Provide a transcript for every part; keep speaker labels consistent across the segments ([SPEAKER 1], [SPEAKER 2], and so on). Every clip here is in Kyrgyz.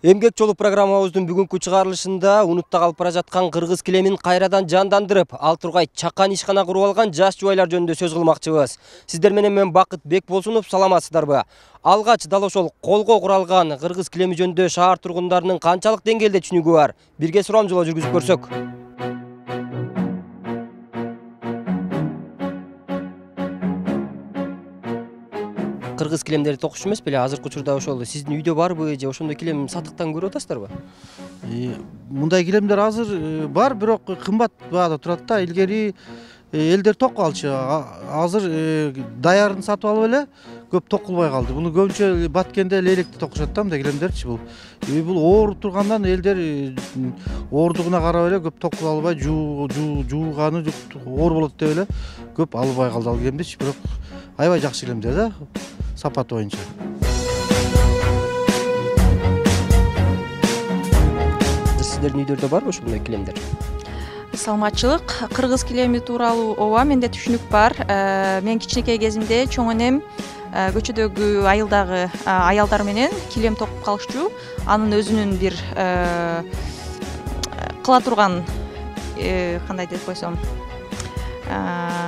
[SPEAKER 1] Эмгек жолу программабыздын бүгүнкү чыгарылышында унутта калып бара жаткан кыргыз килемин кайрадан жандандырып, ал тургай чакан ишкана куруп алган жаш жубайлар жөнүндө сөз кылмакчыбыз. Сиздер менен мен Бакыт Бекболсунов, саламатсыздарбы? Алгач дал ошол колго куралган кыргыз килеми жөнүндө шаар тургундарынын канчалык деңгээлде түшүнүгү бар? Бирге сурамжылоо жүргүзүп көрсөк. Кыргыз килемдери токуш эмес беле? Азыркы учурда ошол сиздин үйдө барбы же ошондой килем сатыктан көрүп атасыздарбы?
[SPEAKER 2] Мындай килемдер азыр бар, бирок кымбат баада турат да. Илгери элдер токко алчу. Азыр даярын сатып алып эле көп токулбай калды. Буну көбүнчө Баткенде лейлекте токушат да, мындай килемдерчи бул. Бул ооруп тургандан элдер оордугуна карап эле көп токуп албай, жууганы оор болот деп эле көп албай калды ал килемдичи. Бирок аябай жакшы килемдер да, сапаты боюнча.
[SPEAKER 1] Сиздердин үйдөрдө барбы ушундай килемдер?
[SPEAKER 3] Саламатчылык. Кыргыз килеми тууралуу ооба менде түшүнүк бар. Мен кичинекей кезимде чоң энем көчөдөгү айылдагы аялдар менен килем токуп калышчу. Анын өзүнүн бир кыла турган кандай деп койсом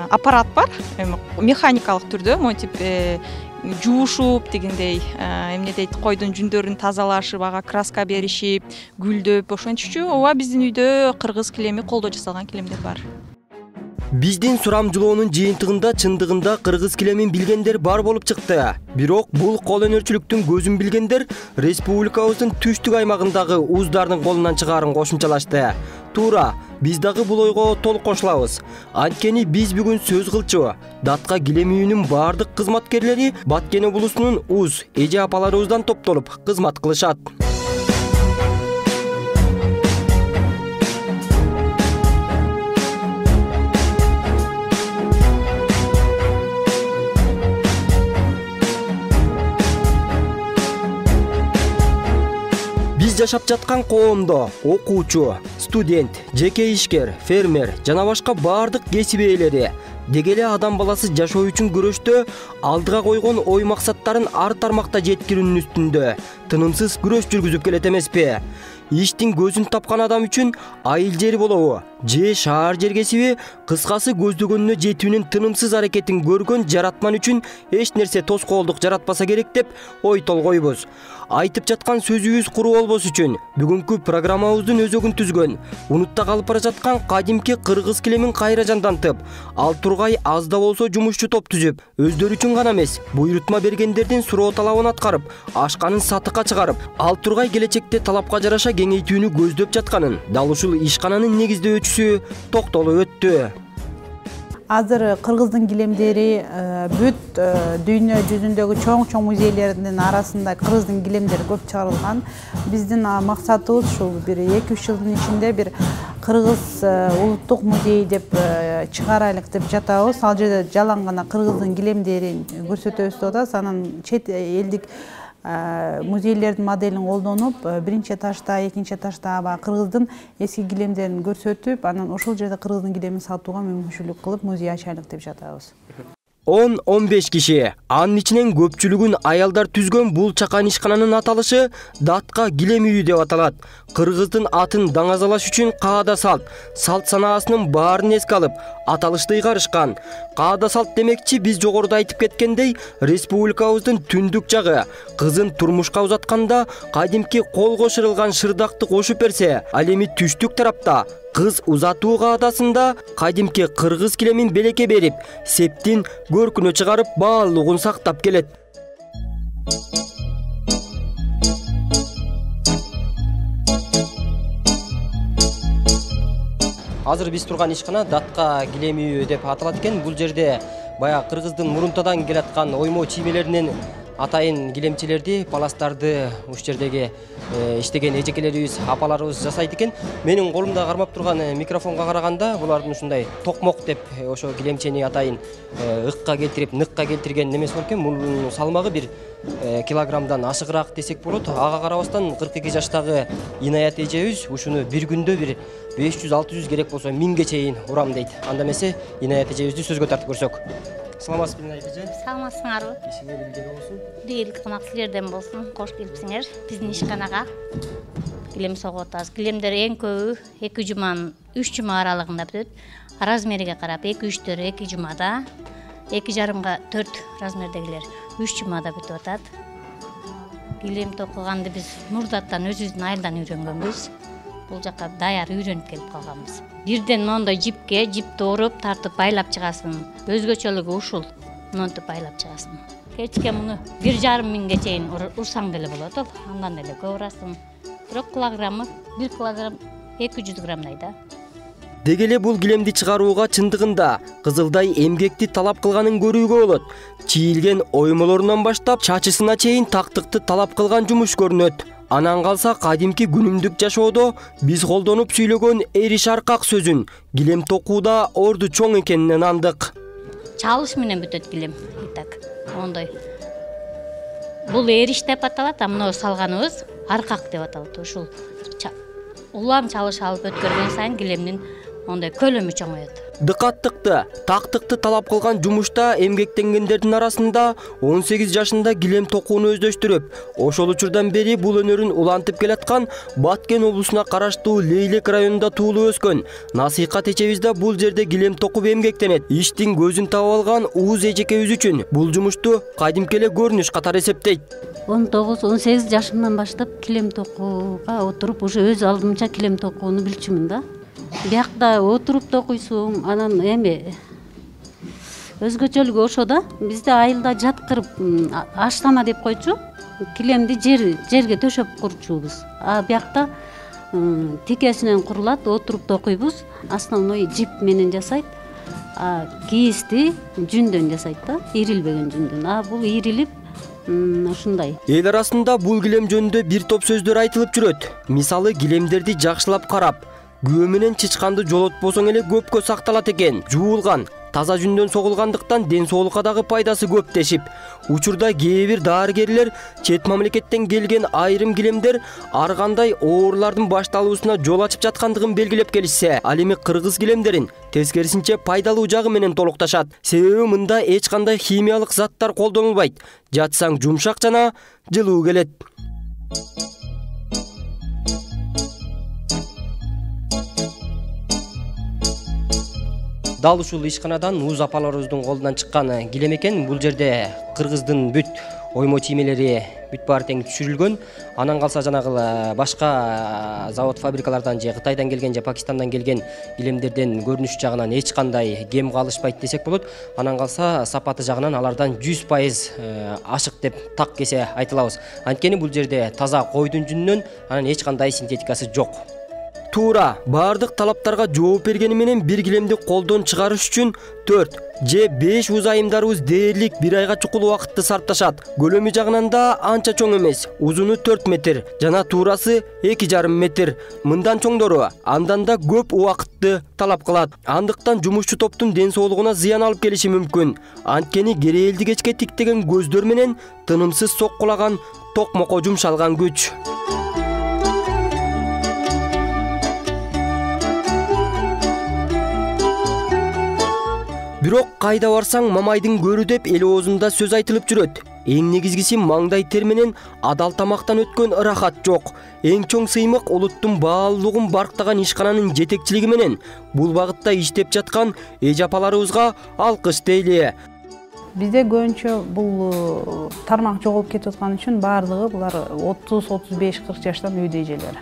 [SPEAKER 3] аппарат бар, механикалык түрдө, монтип жуушуп дегендей, эмне дейт, койдун жүндөрүн тазалашып, ага краска беришип, гүлдөп ошентчү. Ооба, биздин үйдө кыргыз килеми колдо жасалган килемдер бар.
[SPEAKER 1] Биздин сурамжылоонун жыйынтыгында чындыгында кыргыз килемин билгендер бар болуп чыкты. Бирок бул кол өнөрчүлүктүн көзүн билгендер республикабыздын түштүк аймагындагы уздардын колунан чыгаарын кошумчалашты. Туура, биз дагы бул ойго толук кошулабыз. Анткени биз бүгүн сөз кылчу Датка килем үйүнүн бардык кызматкерлери Баткен облусунун уз эже апаларыбыздан топтолуп кызмат кылышат. Биз жашап жаткан коомдо окуучу, студент, жеке ишкер, фермер жана башка бардык кесип ээлери деги эле адам баласы жашоо үчүн күрөштө алдыга койгон ой максаттарын ар тармакта жеткирүүнүн үстүндө тынымсыз күрөш жүргүзүп келет эмеспи? Иштин көзүн тапкан адам үчүн айыл жери болобу же шаар жер кесиби, кыскасы көздөгөнүнө жетүүнүн тынымсыз аракетин көргөн жаратман үчүн эч нерсе тоскоолдук жаратпаса керек деп ой толгойбуз. Айтып жаткан сөзүбүз куру болбос үчүн бүгүнкү программабыздын өзөгүн түзгөн, унутта калып бара жаткан кадимки кыргыз килемин кайра жандантып, ал тургай аз да болсо жумушчу топ түзүп, өздөрү үчүн гана эмес, буйрутма бергендердин суроо талабын аткарып, ашканын сатыкка чыгарып, ал тургай келечекте талапка жараша кеңейтүүнү көздөп жатканын дал ушул ишкананын негиздөөчүсү токтолуп өттү.
[SPEAKER 4] Азыр кыргыздын килемдери бүт дүйнө жүзүндөгү чоң музейлердин арасында кыргыздын килемдери көп чыгарылган. Биздин максатыбыз ушул бир 2-3 жылдын ичинде бир кыргыз улуттук музей деп чыгарайлык деп жатабыз. Ал жерде жалаң гана кыргыздын килемдерин көрсөтөбүз деп атабыз. Анан чет элдик музейлердин моделин колдонуп, биринчи этажда, экинчи этажда кыргыздын эски килемдерин көрсөтүп, анан ошол жерде кыргыздын килемин сатууга мүмкүнчүлүк кылып, музей ачайлык деп жатабыз.
[SPEAKER 1] 10-15 киши, анын ичинен көпчүлүгүн аялдар түзгөн бул чакан ишкананын аталышы Датка килем үйү деп аталат. Кыргыздын атын даңазалаш үчүн каада салт санаасынын баарын эске алып, аталышты ыйгарышкан. Каада салт демекчи, биз жогоруда айтып кеткендей, республикабыздын түндүк жагы кызын турмушка узатканда кадимки колго шырылган шырдакты кошуп берсе, ал эми түштүк тарапта кыз узатуу каадасында кадимки кыргыз килемин белекке берип, септин көркүнө чыгарып, баалуулугун сактап келет. Азыр биз турган ишкана Датка килем үйү деп аталат экен. Бул жерде баягы кыргыздын мурунтадан келаткан оймо чиймелеринен атайын килемчилерди, паластарды уш жердеги иштеген эжекелерибиз, апаларыбыз жасайт экен. Менин колумда кармап турган микрофонго караганда булардын ушундай токмок деп ошо килемчени атайын ыкка келтирип, ныкка келтирген немеси бар экен. Мунун салмагы бир килограммдан ашыгыраак десек болот. Ага карабастан 42 жаштагы Инаят эжебиз ушуну бир күндө бир 500-600 керек болсо 1000ге чейин урам дейт. Анда эмесе Инаят эжебизди сөзгө тартып көрсөк. Саламатсызбы айкыжы?
[SPEAKER 5] Саламатсыңарбы?
[SPEAKER 1] Ишиңер илгери болсун.
[SPEAKER 5] Ийгилик камак силерден болсун. Кош келипсиңер биздин ишканага. Килем согуп атабыз. Килемдер эң көбү 2 жуманын 3 жума аралыгында бүтөт. Размериге карап 2-3-төр 2 жумада, 2,5-га 4 размердегилер 3 жумада бүтүп атат. Килем токуганды биз мурдаттан өзүбүздүн айылдан үйрөнгөнбүз. Бул жака даяр үйрөнүп келип калганбыз. Бирден мондой жипке жипти оруп, тартып байлап чыгасың. Өзгөчөлүгү ушул. Монтип байлап чыгасың. Кечке муну 1,5 миңге чейин урсаң деле болот ал. Андан эле көп урасың. 1 килограммы 1 килограмм 200 граммдай да.
[SPEAKER 1] Деги эле бул килемди чыгарууга чындыгында кызылдай эмгекти талап кылганын көрүүгө болот. Чийилген оймолорунан баштап чачысына чейин тактыкты талап кылган жумуш көрүнөт. Анан калса кадимки күнүмдүк жашоодо биз колдонуп сүйлөгөн эриш аркак сөзүн килем токууда орду чоң экенин андык.
[SPEAKER 5] Чалыш менен бүтөт килем. Итак, ондой. Бул эриш деп аталат, а мына салганыбыз аркак деп аталат. Ушул улам чалыш алып өткөргөн сайын килемдин ондай көлөмү чоңоет.
[SPEAKER 1] Дыкаттыкты, тактыкты талап кылган жумушта эмгектенгендердин арасында 18 жашында килем токууну өздөштүрүп, ошол учурдан бери бул өнөрүн улантып келаткан Баткен облусуна караштуу Лейлек районунда туулуп өскөн Насыйкат эчебиз да бул жерде килем токуп эмгектенет. Иштин көзүн таап алган Ууз эжекебиз үчүн бул жумушту кадимки эле көрүнүш катары эсептейт.
[SPEAKER 6] 19-18 жашымдан баштап килем токууга отуруп, уже өз алдымча килем токууну билчүмүн да. Биякта отуруп токуйсуң, анан эми өзгөчөлүгү ошо да. Бизде айылда жаткырып аштама деп койчу. Килемди жерге төшөп курчубуз. А биякта тикесинен курулат, отуруп токуйбуз. Основной жип менен жасайт. А кийизди жүндөн жасайт да, ирилбеген жүндөн. А бул ирилип ушундай.
[SPEAKER 1] Эл арасында бул килем жөнүндө бир топ сөздөр айтылып жүрөт. Мисалы, килемдерди жакшылап карап, күбө менен чычканды жолотпосоң эле көпкө сакталат экен. Жуулган, таза жүндөн согулгандыктан ден соолукка дагы пайдасы көп дешип. Учурда кээ бир дарыгерлер чет мамлекеттен келген айрым килемдер ар кандай оорулардын башталуусуна жол ачып жаткандыгын белгилеп келишсе, ал эми кыргыз килемдерин тескерисинче пайдалуу жагы менен толукташат. Себеби мында эч кандай химиялык заттар колдонулбайт. Жатсаң жумшак жана жылуу келет. Дал ушул ишканадан Ууз апаларыбыздын колунан чыккан килем экен. Бул жерде кыргыздын бүт оймо тиймелери бүт баары тең түшүрүлгөн. Анан калса жанагы башка завод фабрикалардан же Кытайдан келген же Пакистандан келген килемдерден көрүнүш жагынан эч кандай кем калышпайт десек болот. Анан калса сапаты жагынан алардан 100% ашык деп так кесе айтылабыз. Анткени бул жерде таза койдун жүнүнөн анан эч кандай синтетикасы жок. Туура, бардык талаптарга жооп бергени менен бир килемди колдон чыгарыш үчүн 4 же 5 узайымдарыбыз дээрлик 1 айга чукул убакытты сарпташат. Көлөмү жагынан да анча чоң эмес. Узуну 4 метр, жана туурасы 2,5 метр. Мындан чоңдору андан да көп убакытты талап кылат. Андыктан жумушчу топтун ден соолугуна зыян алып келиши мүмкүн. Анткени керээлди кечке тиктеген көздөр менен тынымсыз соккулаган токмокко жумшалган күч. Бирок кайда барсаң мамайдын көрү деп эл оозунда сөз айтылып жүрөт. Эң негизгиси маңдай тер менен адал тамактан өткөн ырахат жок. Эң чоң сыймык улуттун баалуулугун барктаган ишкананын жетекчилиги менен бул багытта иштеп жаткан эже апаларыбызга алкыш дейли.
[SPEAKER 4] Бизде көбүнчө бул тармак жоголуп кетип аткан үчүн баардыгы булар 30-35-40 жаштан үйдө эжелер.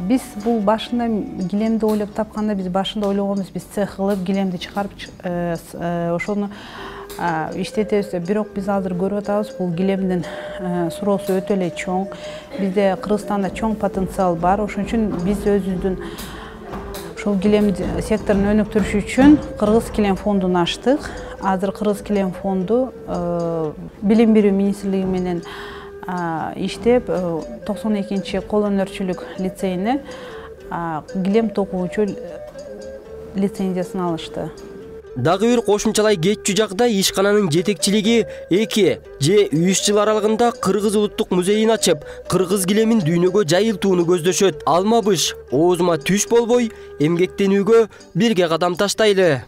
[SPEAKER 4] Биз бул башында килемди ойлоп тапканда биз башында ойлогонбуз, биз цех кылып килемди чыгарып ошону иштетебиз. Бирок биз азыр көрүп атабыз, бул килемдин суроосу өтө эле чоң. Бизде Кыргызстанда чоң потенциал бар. Ошон үчүн биз өзүбүздүн ушул килем секторун өнүктүрүш үчүн Кыргыз килем фондун ачтык. Азыр Кыргыз килем фонду билим берүү министрлиги менен иштеп 92-чи кол өнөрчүлүк лицейине килем токуучу лицензиясын алышты.
[SPEAKER 1] Дагы бир кошумчалай кетчү жагда ишкананын жетекчилиги 2 же 3 жыл аралыгында Кыргыз улуттук музейин ачып, кыргыз килемин дүйнөгө жайылтууну көздөшөт. Алма быш оозума түш болбой, эмгектенүүгө бирге кадам таштайлы.